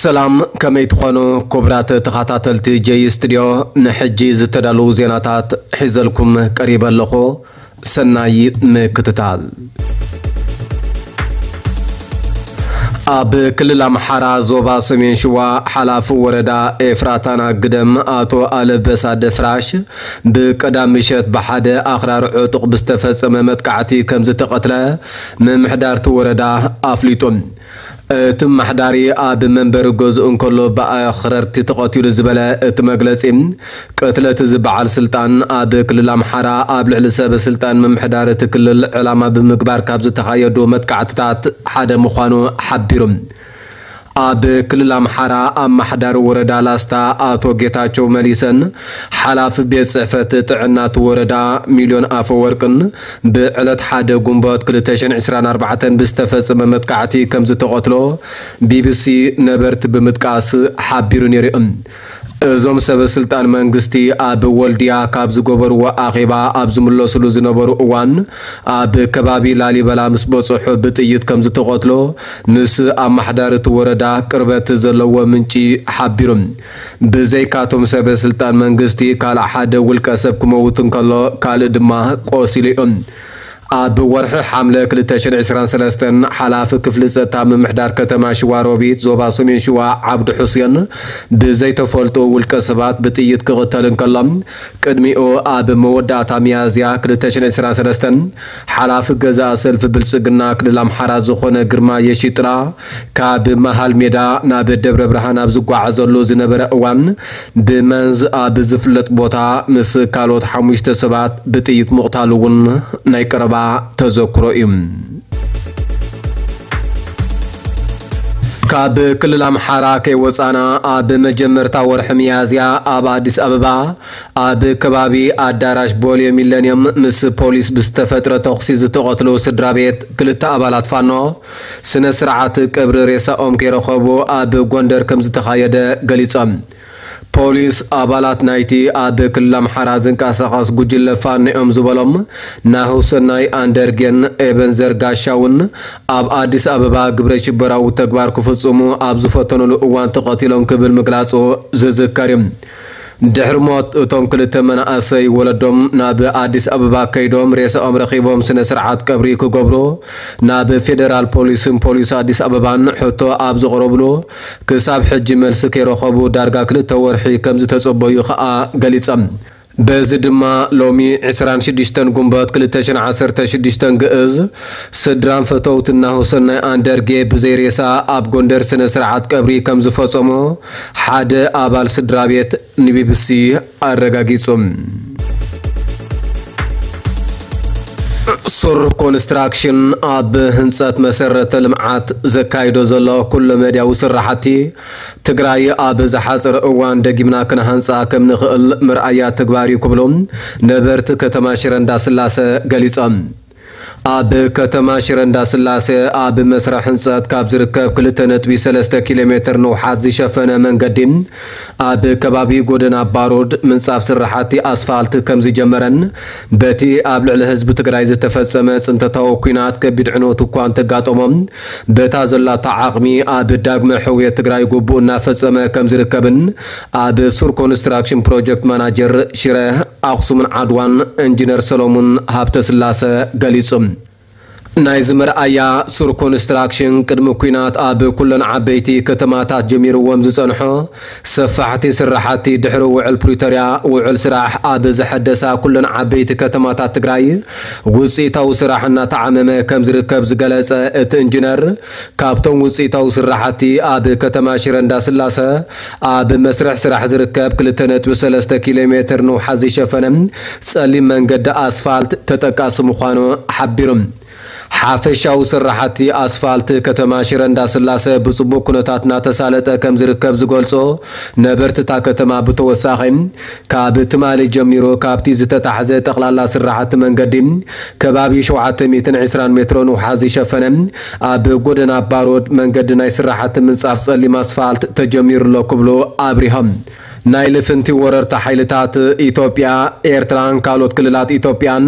ሰላም፣ ከመይ ትኾኑ ክቡራት ተኸታተልቲ ጀይ ስቱድዮ? ንሕጂ ዝተዳለዉ ዜናታት ሒዘልኩም ቀሪበ ኣለኹ። ሰናይ ምክትታል። ኣብ ክልል ኣምሓራ ዞባ ሰሜን ሽዋ ሓላፊ ወረዳ ኤፍራታና ግደም ኣቶ ኣለበሳ ደፍራሽ ብቀዳም ምሸት ብሓደ ኣኽራሪ ዕጡቕ ብዝተፈጸመ መጥቃዕቲ ከም ዝተቐትለ ምምሕዳርቲ ወረዳ ኣፍሊጡ። እቲ ኣመሓዳሪ ኣብ መንበሪ ገዝኡ እንከሎ ብኣኽረርቲ ተቐቲሉ ዝበለ እቲ መግለጺ፣ ቅትለት እዚ በዓል ስልጣን ኣብ ክልል ኣምሓራ ኣብ ልዕሊ ሰበ ስልጣን ምምሕዳር እቲ ክልል ዕላማ ብምግባር ካብ ዝተኻየዱ መጥቃዕትታት ሓደ ምዃኑ ሓቢሩ። ኣብ ክልል ኣምሓራ ኣመሓዳሪ ወረዳ ላስታ ኣቶ ጌታቸው መሊሰን ሓላፊ ቤት ጽሕፈት ጥዕና እቲ ወረዳ ሚልዮን ኣፈወርቅን ብዕለት ሓደ ጉንበት ክልተ ሽሕን ዕስራን ኣርባዕተን ብዝተፈጸመ መጥቃዕቲ ከም ዝተቐትሎ ቢቢሲ ነበርቲ ብምጥቃስ ሓቢሩ ነይሩ። እዞም ሰበ ስልጣን መንግስቲ ኣብ ወልድያ ካብ ዝገበርዎ ኣኼባ ኣብ ዝምለስሉ ዝነበሩ እዋን ኣብ ከባቢ ላሊበላ ምስ በጽሑ ብጥይት ከም ዝተቐትሎ ምስ ኣመሓዳሪ እቲ ወረዳ ቅርበት ዘለዎ ምንጪ ሓቢሩ። ብዘይካቶም ሰበ ስልጣን መንግስቲ ካልእ ሓደ ውልቀ ሰብ ክመውት እንከሎ ካልእ ድማ ቆሲሉ እዩ። ኣብ ወርሒ ሓምለ ክልተ ሽሕን ዕስራን ሰለስተን ሓላፊ ክፍሊ ጸጥታ ምምሕዳር ከተማ ሽዋ ሮቢት ዞባ ሰሜን ሽዋ ዓብዱ ሑሴን ብዘይተፈልጡ ውልቀ ሰባት ብጥይት ክቕተል እንከሎ ቅድሚኡ ኣብ መወዳእታ ሚያዝያ ክልተ ሽሕን ዕስራን ሰለስተን ሓላፊ ገዛኢ ሰልፊ ብልጽግና ክልል ኣምሓራ ዝኾነ ግርማ የሺጥላ ካብ መሃል ሜዳ ናብ ደብረ ብርሃን ኣብ ዝጓዓዘሉ ዝነበረ እዋን ብመንዝ ኣብ ዝፍለጥ ቦታ ምስ ካልኦት ሓሙሽተ ሰባት ብጥይት ምቕታሉ እውን ናይ ቀረባ ተዘክሮ እዩ። ካብ ክልል ኣምሓራ ከይወጻና ኣብ መጀመርታ ወርሒ ሚያዝያ ኣብ ኣዲስ ኣበባ ኣብ ከባቢ ኣዳራሽ ቦሌ ሚለንየም ምስ ፖሊስ ብዝተፈጥረ ተኹሲ ዝተቐትሉ ስድራ ቤት ክልተ ኣባላት ፋኖ ስነ ስርዓት ቀብሪ ሬሳኦም ከይረኸቡ ኣብ ጎንደር ከም ዝተኻየደ ገሊጾም። ፖሊስ ኣባላት ናይቲ ኣብ ክልል ኣምሓራ ዝንቀሳቐስ ጉጅለ ፋኖ እዮም ዝበሎም ናሁሰናይ ኣንደርጌን ኤበንዘር ጋሻውን ኣብ ኣዲስ ኣበባ ግብረ ሽበራዊ ተግባር ክፍጽሙ ኣብ ዝፈተኑሉ እዋን ተቐቲሎም ክብል ምግላጹ ዝዝከር እዩ። ድሕሪ ሞት እቶም ክልተ መናእሰይ ወለዶም ናብ ኣዲስ ኣበባ ከይዶም ሬሳኦም ረኺቦም ስነ ስርዓት ቀብሪ ክገብሩ ናብ ፌደራል ፖሊስን ፖሊስ ኣዲስ ኣበባን ሕቶ ኣብ ዘቕረብሉ ክሳብ ሕጂ መልሲ ከይረኸቡ ዳርጋ ክልተ ወርሒ ከም ዝተጸበዩ ከኣ ገሊጾም። በዚ ድማ ሎሚ ዕስራን ሽዱሽተን ጉንበት ክልተ ሽሕን ዓሰርተ ሽዱሽተን ግእዝ ስድራን ፈተውትን ናሁሰናይ ኣንደርጌ ብዘይ ሬሳ ኣብ ጎንደር ስነ ስርዓት ቀብሪ ከም ዝፈጸሙ ሓደ ኣባል ስድራ ቤት ንቢቢሲ ኣረጋጊጹ። ሱር ኮንስትራክሽን ኣብ ህንጸት መሰረተ ልምዓት ዘካይዶ ዘሎ ኩለ መድያዊ ስራሕቲ ትግራይ ኣብ ዝሓጸረ እዋን ደጊምና ክንሃንጻ ከም ንኽእል መርኣያ ተግባር እዩ ክብሉ ነበርቲ ከተማ ሽረ እንዳስላሰ ገሊጾም። ኣብ ከተማ ሽረ እንዳስላሰ ኣብ መስርሕ ህንጸት ካብ ዝርከብ ክልተ ነጥቢ ሰለስተ ኪሎ ሜትር ንውሓት ዝሸፈነ መንገዲ ኣብ ከባቢ ጎደና ባሩድ ምንጻፍ ስራሕቲ ኣስፋልት ከም ዝጀመረን በቲ ኣብ ልዕሊ ህዝቢ ትግራይ ዝተፈጸመ ጽንተታዊ ኲናት ከቢድ ዕንወት እኳ እንተጋጠሞም በታ ዘላታ ዓቕሚ ኣብ ዳግመ ሕውየት ትግራይ ግቡእ እናፈጸመ ከም ዝርከብን ኣብ ሱር ኮንስትራክሽን ፕሮጀክት ማናጀር ሽረ ኣኽሱምን ዓድዋን ኢንጂነር ሰሎሙን ሃብተስላሰ ገሊጹ። ናይዚ መርኣያ ሱር ኮንስትራክሽን ቅድሚ ኲናት ኣብ ኩለን ዓበይቲ ከተማታት ጀሚርዎም ዝጸንሖ ሰፋሕቲ ስራሕቲ ድሕሪ ውዕል ፕሪቶርያ ውዕል ስራሕ ኣብ ዘሐደሳ ኩለን ዓበይቲ ከተማታት ትግራይ ውፅኢታዊ ስራሕ እናተዓመመ ከም ዝርከብ ዝገለጸ እቲ ኢንጂነር ካብቶም ውፅኢታዊ ስራሕቲ ኣብ ከተማ ሽረ እንዳስላሰ ኣብ መስርሕ ስራሕ ዝርከብ ክልተ ነጥቢ ሰለስተ ኪሎ ሜትር ንውሓት ዝሸፈነ ጸሊም መንገዲ ኣስፋልት ተጠቃሲ ምዃኑ ሓቢሩ። ሓፈሻዊ ስራሕቲ ኣስፋልት ከተማ ሽረ እንዳስላሰ ብፅቡቅ ኩነታት እናተሳለጠ ከም ዝርከብ ዝገልፆ ነበርቲ እታ ከተማ ብተወሳኺ ካብ ትማሊ ጀሚሩ ካብቲ ዝተታሕዘ ጠቕላላ ስራሕቲ መንገዲ ከባቢ ሸውዓተ ሚእትን ዕስራን ሜትሮ ንውሓት ዝሸፈነ ኣብ ጎደና ባሮድ መንገዲ ናይ ስራሕቲ ምንፃፍ ፀሊም ኣስፋልት ተጀሚሩ ኣሎ ክብሉ ኣብሪሆም። ናይ ልፍንቲ ወረርቲ ሓይልታት ኢትዮጵያ፣ ኤርትራን ካልኦት ክልላት ኢትዮጵያን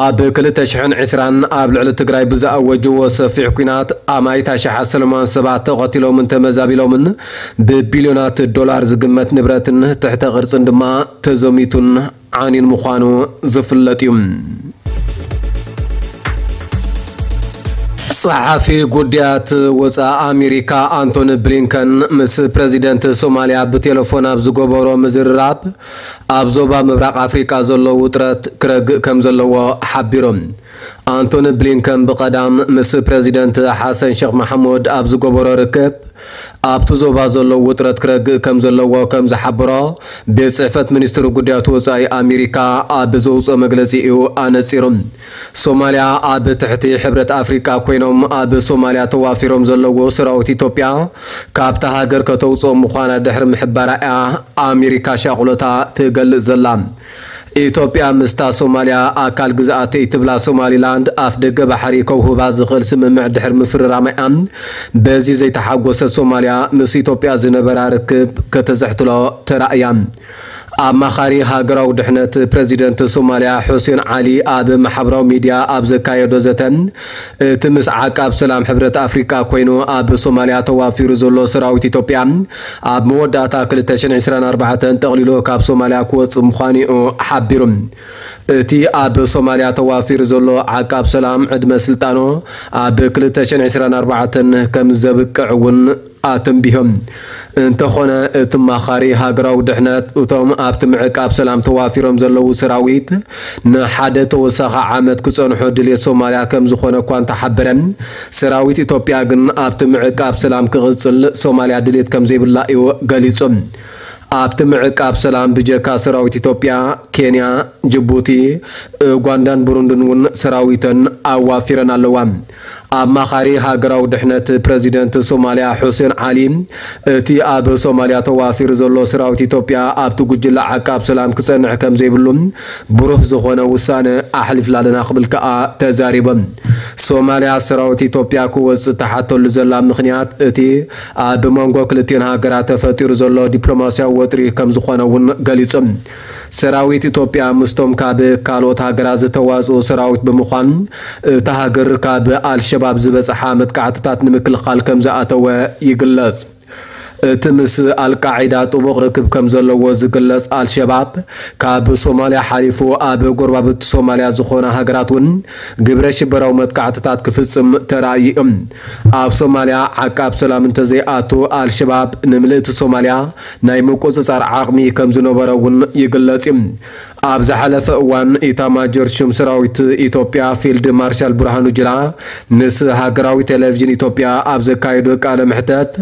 ኣብ ክልተ ሽሕን ዕስራን ኣብ ልዕሊ ትግራይ ብዝኣወጅዎ ሰፊሕ ኲናት ኣማኢት ኣሽሓት ሰለማውያን ሰባት ተቐቲሎምን ተመዛቢሎምን ብቢልዮናት ዶላር ዝግመት ንብረትን ትሕተ ቅርጽን ድማ ተዘሚቱን ዓንዩን ምዃኑ ዝፍለጥ እዩ። ጸሓፊ ጉዳያት ወጻኢ ኣሜሪካ ኣንቶኒ ብሊንከን ምስ ፕረዚደንት ሶማልያ ብቴሌፎን ኣብ ዝገበሮ ምዝርራብ፣ ኣብ ዞባ ምብራቕ ኣፍሪቃ ዘሎ ውጥረት ክረግእ ከም ዘለዎ ሓቢሮም። ኣንቶኒ ብሊንከን ብቐዳም ምስ ፕረዚደንት ሓሰን ሸኽ መሓሙድ ኣብ ዝገበሮ ርክብ፣ ኣብቲ ዞባ ዘሎ ውጥረት ክረግእ ከም ዘለዎ ከም ዝሓበሮ ቤት ጽሕፈት ሚኒስትሪ ጉዳያት ወጻኢ ኣሜሪካ ኣብ ዘውጽኦ መግለጺ እዩ ኣነጺሩ። ሶማልያ ኣብ ትሕቲ ሕብረት ኣፍሪቃ ኮይኖም ኣብ ሶማልያ ተዋፊሮም ዘለዉ ሰራዊት ኢትዮጵያ ካብታ ሃገር ከተውጽኦም ምዃና ድሕሪ ምሕባራ እያ ኣሜሪካ ሻቕሎታ ትገልጽ ዘላ። ኢትዮጵያ ምስታ ሶማልያ ኣካል ግዝኣተይ ትብላ ሶማሊላንድ ኣፍ ደገ ባሕሪ ከውህባ ዝኽእል ስምምዕ ድሕሪ ምፍርራማ እያ በዚ ዘይተሓጎሰት ሶማልያ ምስ ኢትዮጵያ ዝነበራ ርክብ ከተዘሕትሎ ተራእያ። ኣማኻሪ ሃገራዊ ድሕነት ፕረዚደንት ሶማልያ ሑሴን ዓሊ ኣብ ማሕበራዊ ሚድያ ኣብ ዘካየዶ ዘተ፣ እቲ ምስ ዓቃብ ሰላም ሕብረት ኣፍሪቃ ኮይኑ ኣብ ሶማልያ ተዋፊሩ ዘሎ ሰራዊት ኢትዮጵያ ኣብ መወዳእታ ክልተ ሽሕን ዕስራን ኣርባዕተን ጠቕሊሉ ካብ ሶማልያ ክወጽእ ምዃኑ እዩ ሓቢሩ። እቲ ኣብ ሶማልያ ተዋፊሩ ዘሎ ዓቃብ ሰላም ዕድመ ስልጣኑ ኣብ ክልተ ሽሕን ዕስራን ኣርባዕተን ከም ዘብቅዕ እውን ኣተንቢሆም። እንተኾነ እቲ ኣማኻሪ ሃገራዊ ድሕነት እቶም ኣብቲ ምዕቃብ ሰላም ተዋፊሮም ዘለዉ ሰራዊት ንሓደ ተወሳኺ ዓመት ክጸንሑ ድልየት ሶማልያ ከም ዝኾነ እኳ እንተሓበረ፣ ሰራዊት ኢትዮጵያ ግን ኣብቲ ምዕቃብ ሰላም ክቕጽል ሶማልያ ድልየት ከም ዘይብላ እዩ ገሊጹ። ኣብቲ ምዕቃብ ሰላም ብጀካ ሰራዊት ኢትዮጵያ፣ ኬንያ፣ ጅቡቲ፣ ኡጋንዳን ብሩንድን እውን ሰራዊተን ኣዋፊረን ኣለዋ። ኣማኻሪ ሃገራዊ ድሕነት ፕረዚደንት ሶማልያ ሑሴን ዓሊ፣ እቲ ኣብ ሶማልያ ተዋፊሩ ዘሎ ሰራዊት ኢትዮጵያ ኣብቲ ጉጅለ ዓቃብ ሰላም ክጸንሕ ከም ዘይብሉ ብሩህ ዝኾነ ውሳነ ኣሕሊፍና ኣለና ክብል ከኣ ተዛሪቦም። ሶማልያ ሰራዊት ኢትዮጵያ ክወጽእ ትሓተሉ ዘላ ምኽንያት እቲ ኣብ መንጎ ክልቲኦን ሃገራት ተፈጢሩ ዘሎ ዲፕሎማስያዊ ወጥሪ ከም ዝኾነ እውን ገሊጹ። ሰራዊት ኢትዮጵያ ምስቶም ካብ ካልኦት ሃገራት ዝተዋጽኡ ሰራዊት ብምዃን፣ እታ ሃገር ካብ ኣልሸባብ ዝበጽሓ መጥቃዕትታት ንምክልኻል ከም ዝኣተወ ይግለጽ። እቲ ምስ ኣልቃዒዳ ጥቡቕ ርክብ ከም ዘለዎ ዝግለጽ ኣልሸባብ፣ ካብ ሶማልያ ሓሊፉ ኣብ ጎረባብቲ ሶማልያ ዝኾና ሃገራት እውን ግብረ ሽበራዊ መጥቃዕትታት ክፍጽም ተራእዩ እዩ። ኣብ ሶማልያ ዓቃብ ሰላም እንተዘይኣቱ፣ ኣልሸባብ ንምልእቲ ሶማልያ ናይ ምቁጽጻር ዓቕሚ ከም ዝነበሮ እውን ይግለጽ እዩ። ኣብ ዝሓለፈ እዋን፣ ኢታማጆር ሹም ሰራዊት ኢትዮጵያ ፊልድ ማርሻል ብርሃኑ ጁላ ምስ ሃገራዊ ቴሌቪዥን ኢትዮጵያ ኣብ ዘካየዶ ቃለ መሕተት፣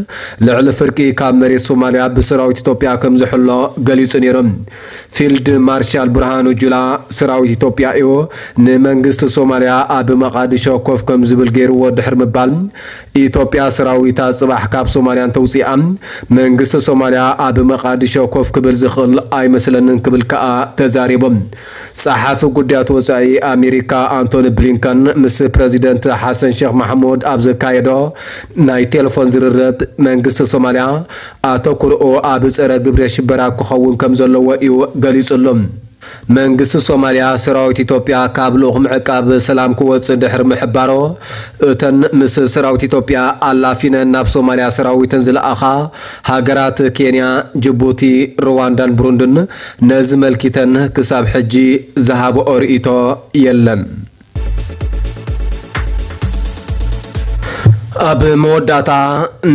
ልዕሊ ፍርቂ ካብ መሬት ሶማልያ ብሰራዊት ኢትዮጵያ ከም ዝሕሎ ገሊጹ ነይሩ። ፊልድ ማርሻል ብርሃኑ ጁላ፣ ሰራዊት ኢትዮጵያ እዩ ንመንግስቲ ሶማልያ ኣብ መቓድሾ ኮፍ ከም ዝብል ገይርዎ ድሕሪ ምባል፣ ኢትዮጵያ ሰራዊታ ጽባሕ ካብ ሶማልያ እንተውጺኣ፣ መንግስቲ ሶማልያ ኣብ መቓድሾ ኮፍ ክብል ዝኽእል ኣይመስለንን ክብል ከኣ ተዛሪቡ። ጸሓፊ ጉዳያት ወጻኢ ኣሜሪካ ኣንቶኒ ብሊንከን ምስ ፕረዚደንት ሓሰን ሼክ መሓሙድ ኣብ ዘካየዶ ናይ ቴሌፎን ዝርርብ፣ መንግስቲ ሶማልያ ኣተኩርኡ ኣብ ጸረ ግብረ ሽበራ ክኸውን ከም ዘለዎ እዩ ገሊጹሉ። መንግስቲ ሶማልያ ሰራዊት ኢትዮጵያ ካብ ልኡኽ ምዕቃብ ሰላም ክወጽእ ድሕሪ ምሕባሮ፣ እተን ምስ ሰራዊት ኢትዮጵያ ኣላፊነን ናብ ሶማልያ ሰራዊተን ዝለኣኻ ሃገራት ኬንያ፣ ጅቡቲ፣ ሩዋንዳን ብሩንድን ነዚ መልኪተን ክሳብ ሕጂ ዝሃብኦ ርእይቶ የለን። ኣብ መወዳእታ፣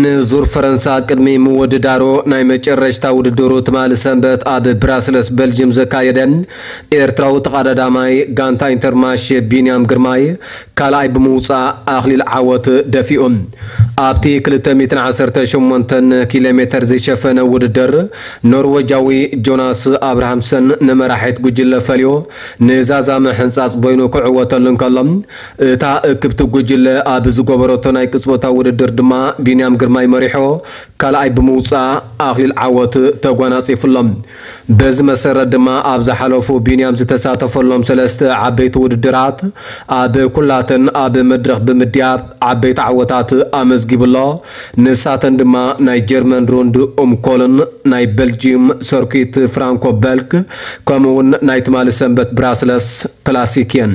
ንዙር ፈረንሳ ቅድሚ ምውድዳሩ፣ ናይ መጨረሽታ ውድድሩ ትማሊ ሰንበት ኣብ ብራስለስ በልጅም ዘካየደ ኤርትራዊ ተቐዳዳማይ ጋንታ ኢንተርማሽ ቢንያም ግርማይ ካልኣይ ብምውጻእ ኣኽሊል ዓወት ደፊኡ። ኣብቲ ክልተ ሚእትን ዓሰርተ ሸሞንተን ኪሎ ሜተር ዝሸፈነ ውድድር፣ ኖርወጃዊ ጆናስ ኣብርሃምሰን ንመራሒት ጉጅለ ፈልዩ ንዛዛመ ሕንጻጽ በይኑ ክዕወተሉ እንከሎ፣ እታ እክብቲ ጉጅለ ኣብ ዝገበረቶ ናይ ቅጽበታዊ ውድድር ድማ ቢንያም ግርማይ መሪሑ ካልኣይ ብምውጻእ ኣኽሊል ዓወት ተጓናጺፉሎም። በዚ መሰረት ድማ ኣብ ዝሓለፉ ቢንያም ዝተሳተፈሎም ሰለስተ ዓበይቲ ውድድራት ኣብ ኩላተን ኣብ መድረኽ ብምድያብ ዓበይቲ ዓወታት ኣመዝጊቡ። ተመዝጊቡ ኣሎ። ንሳተን ድማ ናይ ጀርመን ሩንድ ኡም ኮሎን፣ ናይ ቤልጂዩም ሰርኪት ፍራንኮ በልክ፣ ከምኡ እውን ናይ ትማሊ ሰንበት ብራስለስ ክላሲክ እየን።